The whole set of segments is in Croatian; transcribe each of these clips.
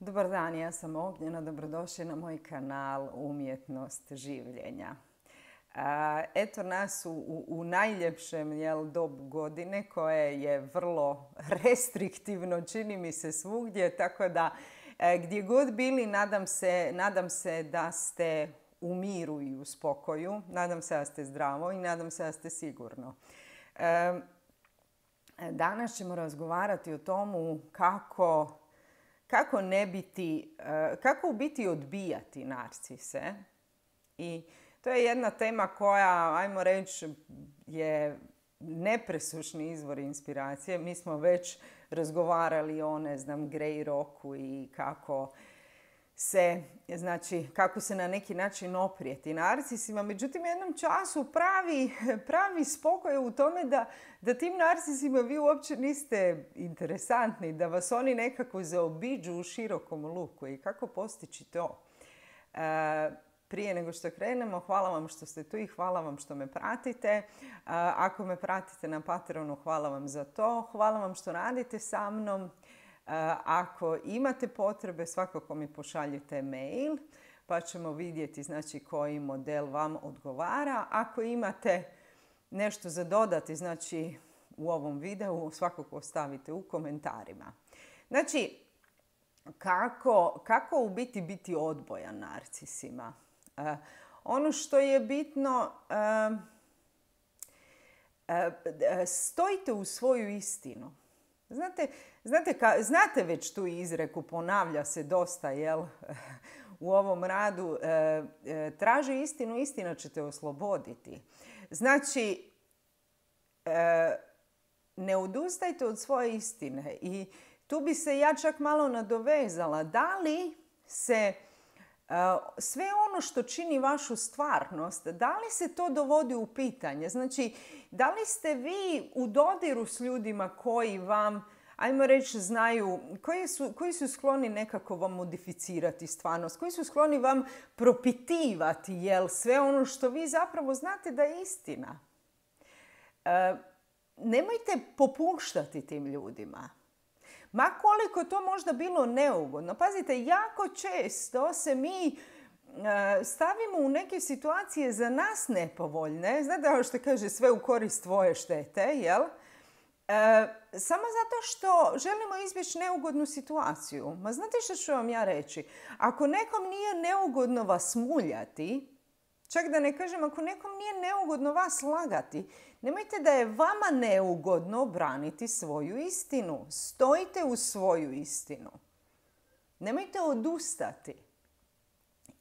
Dobar dan, ja sam Ognjena, dobrodošli na moj kanal Umjetnost življenja. Eto nas u najljepšem dobu godine koje je vrlo restriktivno, čini mi se svugdje, tako da gdje god bili nadam se da ste u miru i u spokoju, nadam se da ste zdravo i nadam se da ste sigurno. Danas ćemo razgovarati o tomu kako u biti odbijati narcise. I to je jedna tema koja, ajmo reći, je nepresušni izvor inspiracije. Mi smo već razgovarali o, Grey Rocku i kako se na neki način oprijeti narcisima. Međutim, u jednom času pravi spokoj u tome da tim narcisima vi uopće niste interesantni, da vas oni nekako zaobiđu u širokom luku. I kako postići to? Prije nego što krenemo, hvala vam što ste tu i hvala vam što me pratite. Ako me pratite na Patreonu, hvala vam za to. Hvala vam što radite sa mnom. Ako imate potrebe, svakako mi pošaljite mail pa ćemo vidjeti koji model vam odgovara. Ako imate nešto za dodati u ovom videu, svakako ostavite u komentarima. Kako u biti odbojan narcisima? Ono što je bitno, stojite u svoju istinu. Znate već tu izreku, ponavlja se dosta u ovom radu, traži istinu, istina će te osloboditi. Ne odustajte od svoje istine. I tu bi se ja čak malo nadovezala. Da li se sve ono što čini vašu stvarnost, da li se to dovodi u pitanje? Da li ste vi u dodiru s ljudima koji vam, ajmo reći, znaju, koji su skloni nekako vam modificirati stvarnost, koji su skloni vam propitivati sve ono što vi zapravo znate da je istina? Nemojte popuštati tim ljudima. Ma koliko to možda bilo neugodno. Pazite, jako često se mi stavimo u neke situacije za nas nepovoljne. Znate ono što kaže, sve u korist tvoje štete, samo zato što želimo izbjeći neugodnu situaciju. Ma znate što ću vam ja reći? Ako nekom nije neugodno vas muljati, čak da ne kažem, ako nekom nije neugodno vas lagati, nemojte da je vama neugodno braniti svoju istinu. Stojite u svoju istinu. Nemojte odustati.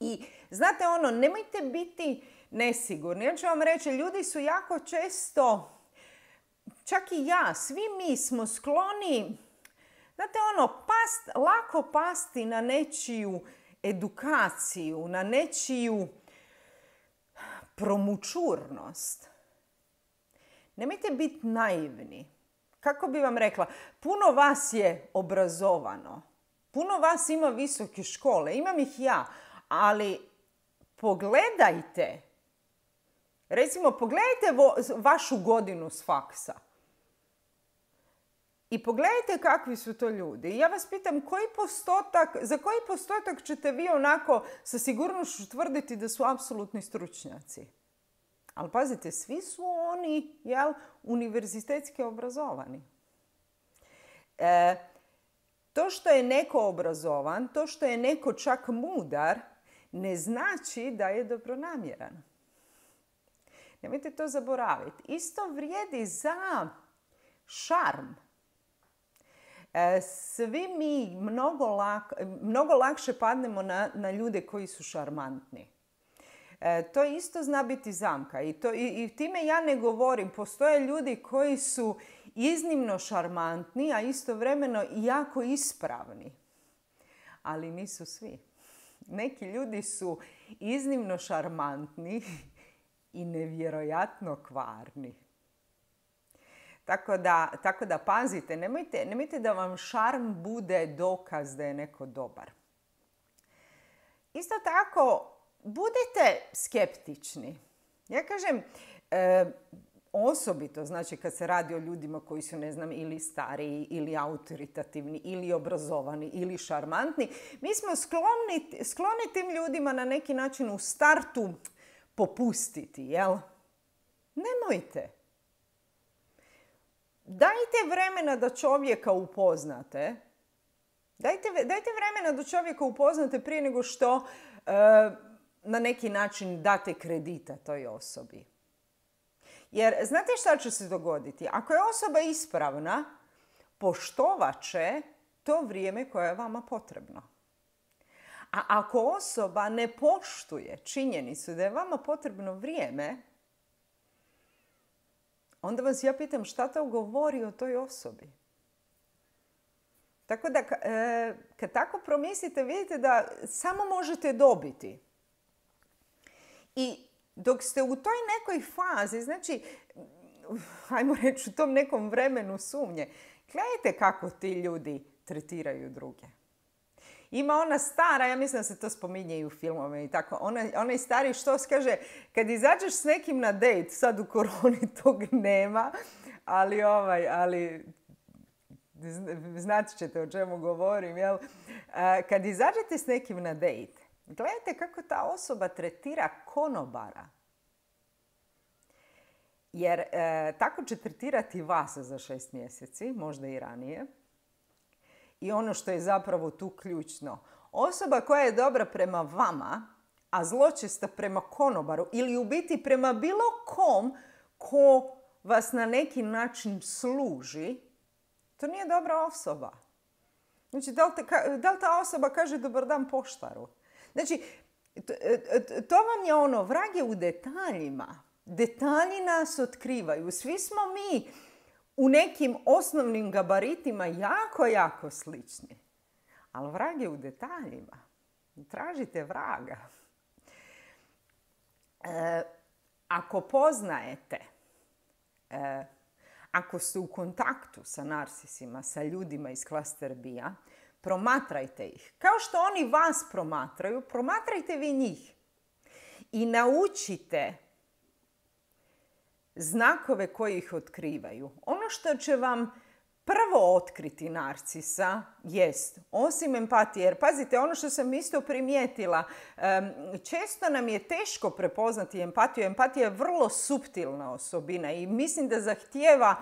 I znate nemojte biti nesigurni. Ja ću vam reći, ljudi su jako često, čak i ja, svi mi smo skloni, lako pasti na nečiju edukaciju, na nečiju promućurnost. Nemojte biti naivni. Kako bi vam rekla, puno vas je obrazovano. Puno vas ima visoke škole, imam ih ja, ali pogledajte. Recimo, pogledajte vašu godinu s faksa. I pogledajte kakvi su to ljudi. I ja vas pitam, za koji postotak ćete vi onako sa sigurnošću tvrditi da su apsolutni stručnjaci? Ali pazite, svi su oni, univerzitetski obrazovani. To što je neko obrazovan, to što je neko čak mudar, ne znači da je dobronamjeran. Nemojte to zaboraviti. Isto vrijedi za šarm. Svi mi mnogo lakše padnemo na ljude koji su šarmantni. To isto zna biti zamka. I time ja ne govorim. Postoje ljudi koji su iznimno šarmantni, a istovremeno jako ispravni. Ali nisu svi. Neki ljudi su iznimno šarmantni i nevjerojatno kvarni. Tako da pazite, nemojte da vam šarm bude dokaz da je neko dobar. Isto tako, budite skeptični. Ja kažem, osobito, znači kad se radi o ljudima koji su, ne znam, ili stariji, ili autoritativni, ili obrazovani, ili šarmantni, mi smo skloni tim ljudima na neki način u startu popustiti, jel? Nemojte. Dajte vremena da čovjeka upoznate. Dajte vremena da čovjeka upoznate prije nego što na neki način date kredita toj osobi. Jer znate šta će se dogoditi? Ako je osoba ispravna, poštovat će to vrijeme koje je vama potrebno. A ako osoba ne poštuje činjenicu da je vama potrebno vrijeme, onda vas ja pitam šta to govori o toj osobi. Tako da kad tako promislite, vidite da samo možete dobiti. I dok ste u toj nekoj fazi, znači, ajmo reći u tom nekom vremenu sumnje, gledajte kako ti ljudi tretiraju druge. Ima ona stara, ja mislim da se to spominje i u filmovima i tako, onaj stari što kaže, kad izađeš s nekim na dejt, sad u koroni tog nema, ali znat ćete o čemu govorim, jel? Kad izađete s nekim na dejt, gledajte kako ta osoba tretira konobara. Jer tako će tretirati vas za 6 mjeseci, možda i ranije. I ono što je zapravo tu ključno. Osoba koja je dobra prema vama, a zločesta prema konobaru ili u biti prema bilo kom ko vas na neki način služi, to nije dobra osoba. Znači, da li ta osoba kaže dobar dan poštaru? Znači, to vam je ono, vrag je u detaljima. Detalji nas otkrivaju. Svi smo mi u nekim osnovnim gabaritima jako, jako slični. Ali vrag je u detaljima. Tražite vraga. Ako poznajete, ako ste u kontaktu sa narsisima, sa ljudima iz klaster B-a, promatrajte ih. Kao što oni vas promatraju, promatrajte vi njih. I naučite znakove koji ih otkrivaju. Ono što će vam prvo otkriti narcisa jest, osim empatije, jer pazite, ono što sam isto primijetila, često nam je teško prepoznati empatiju. Empatija je vrlo suptilna osobina i mislim da zahtijeva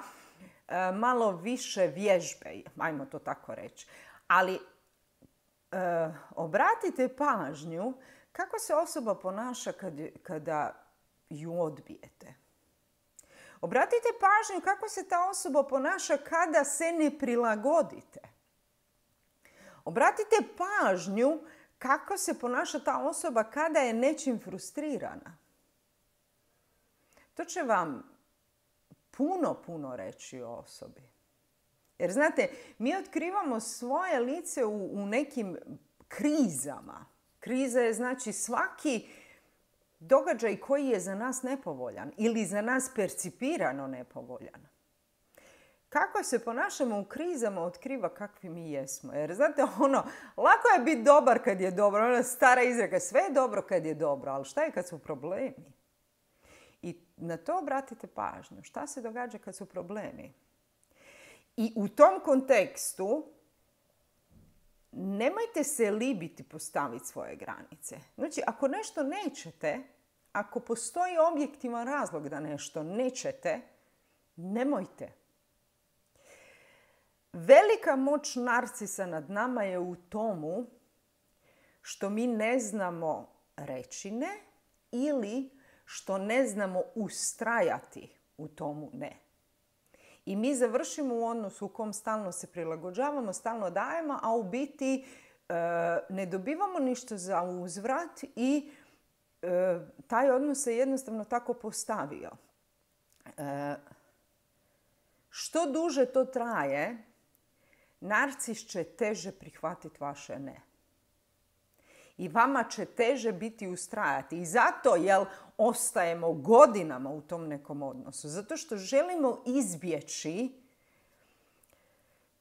malo više vježbe, ajmo to tako reći. Ali obratite pažnju kako se osoba ponaša kada ju odbijete. Obratite pažnju kako se ta osoba ponaša kada se ne prilagodite. Obratite pažnju kako se ponaša ta osoba kada je nečim frustrirana. To će vam puno reći o osobi. Jer znate, mi otkrivamo svoje lice u nekim krizama. Kriza je znači svaki događaj koji je za nas nepovoljan ili za nas percipirano nepovoljan. Kako se ponašamo u krizama otkriva kakvi mi jesmo. Jer znate, lako je biti dobar kad je dobro. Ona stara izreka, sve je dobro kad je dobro, ali šta je kad su problemi? I na to obratite pažnju. Šta se događa kad su problemi? I u tom kontekstu nemojte se libiti postaviti svoje granice. Znači, ako nešto nećete, ako postoji objektivan razlog da nešto nećete, nemojte. Velika moć narcisa nad nama je u tomu što mi ne znamo reći ne ili što ne znamo ustrajati u tomu ne. I mi završimo u odnosu u kom stalno se prilagođavamo, stalno dajemo, a u biti ne dobivamo ništa za uzvrat i taj odnos se jednostavno tako postavio. Što duže to traje, narcis će teže prihvatiti vaše ne. I vama će teže biti ustrajati. I zato, ostajemo godinama u tom nekom odnosu. Zato što želimo izbjeći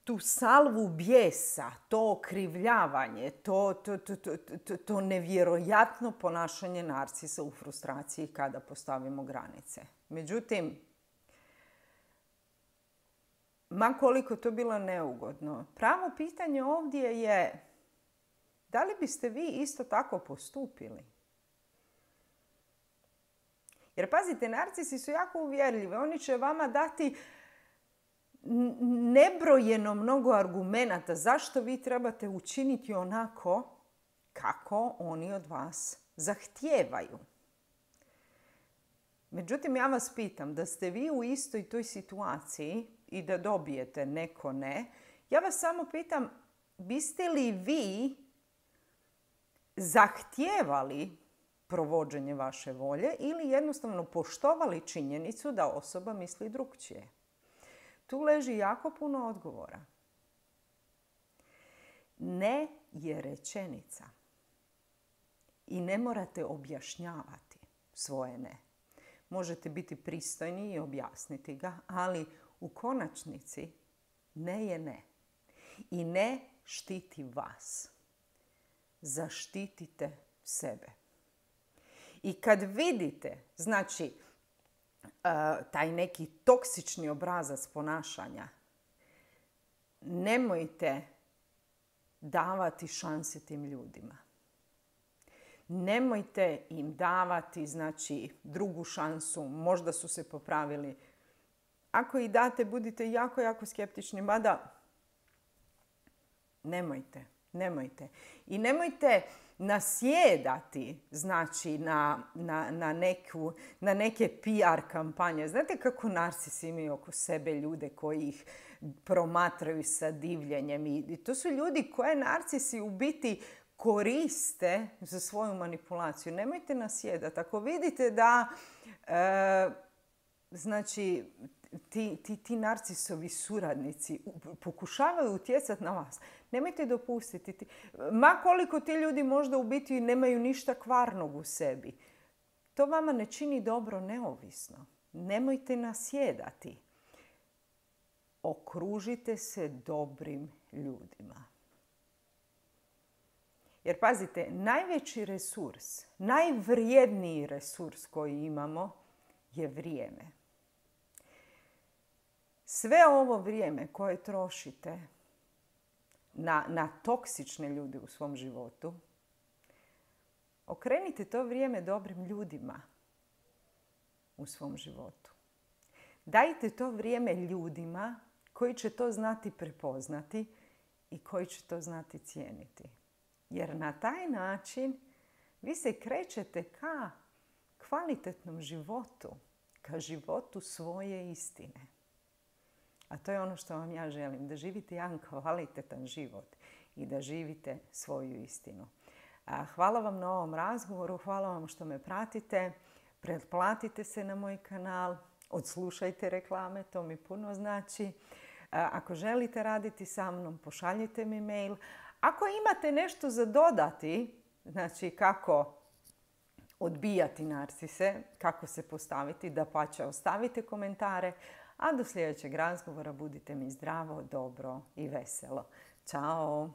tu salvu bijesa, to okrivljavanje, to nevjerojatno ponašanje narcisa u frustraciji kada postavimo granice. Međutim, ma koliko to bilo neugodno. Pravo pitanje ovdje je da li biste vi isto tako postupili? Jer pazite, narcisi su jako uvjerljivi. Oni će vama dati nebrojeno mnogo argumenata zašto vi trebate učiniti onako kako oni od vas zahtijevaju. Međutim, ja vas pitam, da ste vi u istoj toj situaciji i da dobijete neko ne, ja vas samo pitam, biste li vi zahtijevali provođenje vaše volje ili jednostavno poštovali činjenicu da osoba misli drukčije? Tu leži jako puno odgovora. Ne je rečenica. I ne morate objašnjavati svoje ne. Možete biti pristojni i objasniti ga, ali u konačnici ne je ne. I ne štiti vas. Zaštitite sebe. I kad vidite, znači, taj neki toksični obrazac ponašanja, nemojte davati šanse tim ljudima. Nemojte im davati, znači, drugu šansu, možda su se popravili. Ako ih date, budite jako, jako skeptični, mada nemojte. I nemojte nasjedati, znači, na neke PR kampanje. Znate kako narcisi imaju oko sebe ljude koji ih promatraju sa divljenjem. I to su ljudi koje narcisi u biti koriste za svoju manipulaciju. Nemojte nasjedati. Ako vidite da znači, ti narcisovi suradnici pokušavaju utjecati na vas, nemojte dopustiti. Ma koliko ti ljudi možda u biti nemaju ništa kvarnog u sebi. To vama ne čini dobro neovisno. Nemojte nasjedati. Okružite se dobrim ljudima. Jer pazite, najveći resurs, najvrijedniji resurs koji imamo je vrijeme. Sve ovo vrijeme koje trošite na toksične ljude u svom životu, okrenite to vrijeme dobrim ljudima u svom životu. Dajte to vrijeme ljudima koji će to znati prepoznati i koji će to znati cijeniti. Jer na taj način vi se krećete ka kvalitetnom životu, ka životu svoje istine. A to je ono što vam ja želim, da živite jedan kvalitetan život i da živite svoju istinu. Hvala vam na ovom razgovoru, hvala vam što me pratite, pretplatite se na moj kanal, odslušajte reklame, to mi puno znači. Ako želite raditi sa mnom, pošaljite mi mail. Ako imate nešto za dodati, znači kako odbijati narcise, kako se postaviti, dapače ostavite komentare, a do sljedećeg razgovora budite mi zdravo, dobro i veselo. Ćao!